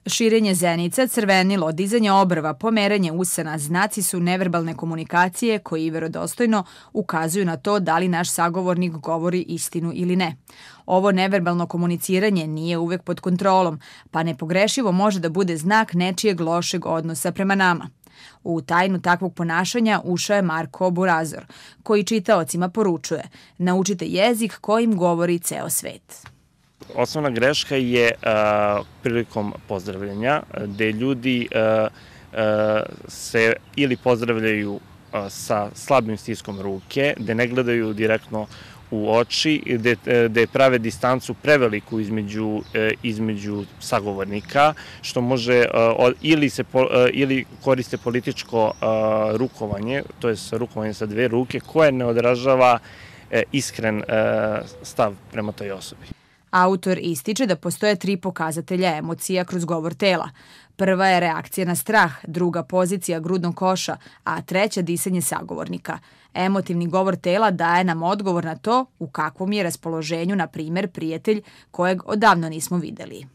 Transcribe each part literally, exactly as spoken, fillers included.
Širenje zenica, crvenilo, dizanje obrva, pomeranje usana, znaci su neverbalne komunikacije koji verodostojno ukazuju na to da li naš sagovornik govori istinu ili ne. Ovo neverbalno komuniciranje nije uvek pod kontrolom, pa nepogrešivo može da bude znak nečijeg lošeg odnosa prema nama. U tajnu takvog ponašanja ušao je Marko Burazor, koji čitaocima poručuje: naučite jezik kojim govori ceo svet. Osnovna greška je uh, prilikom pozdravljanja, gde ljudi uh, uh, se ili pozdravljaju uh, sa slabim stiskom ruke, gde ne gledaju direktno u oči, gde, gde prave distancu preveliku između, između sagovornika, što može ili, se, ili koriste političko rukovanje, to je rukovanje sa dve ruke, koje ne odražava iskren stav prema toj osobi. Autor ističe da postoje tri pokazatelja emocija kroz govor tela. Prva je reakcija na strah, druga pozicija grudnog koša, a treća disanje sagovornika. Emotivni govor tela daje nam odgovor na to u kakvom je raspoloženju, na primer, prijatelj kojeg odavno nismo videli.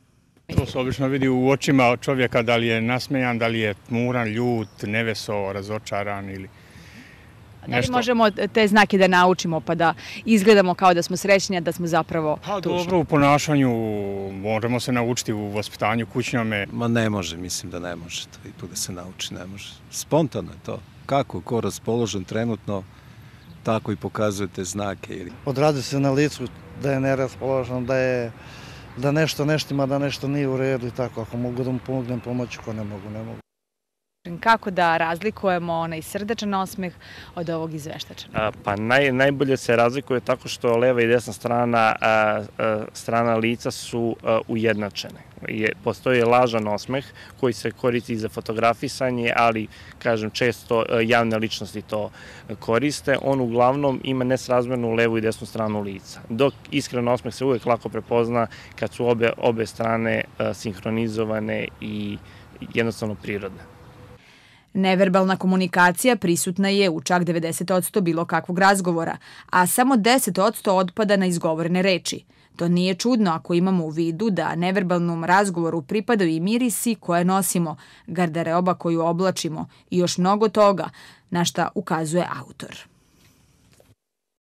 To se obično vidi u očima čovjeka, da li je nasmejan, da li je tmuran, ljut, neveseo, razočaran ili Da li možemo te znake da naučimo pa da izgledamo kao da smo srećni, a da smo zapravo tužni? Dobro, u ponašanju možemo se naučiti, u vaspitanju kućnjome. Ma ne može, mislim da ne može to i tu da se nauči, ne može. Spontano je to. Kako, ko raspoložen trenutno, tako i pokazujete znake. Odradi se na licu da je neraspoložen, da je da nešto neštima, da nešto nije u redu i tako. Ako mogu da mu pomognem pomoći, ko ne mogu, ne mogu. Kako da razlikujemo onaj srdečan osmeh od ovog izveštačanog? Pa naj, najbolje se razlikuje tako što leva i desna strana, a, a, strana lica su a, ujednačene. Je, postoji lažan osmeh koji se koristi za fotografisanje, ali, kažem, često javne ličnosti to koriste. On uglavnom ima nesrazmernu levu i desnu stranu lica. Dok iskren osmeh se uvek lako prepozna kad su obe, obe strane a, sinhronizovane i jednostavno prirodne. Neverbalna komunikacija prisutna je u čak devedeset posto bilo kakvog razgovora, a samo deset posto otpada na izgovorene reči. To nije čudno ako imamo u vidu da neverbalnom razgovoru pripadaju i mirisi koje nosimo, garderoba koju oblačimo i još mnogo toga, na šta ukazuje autor.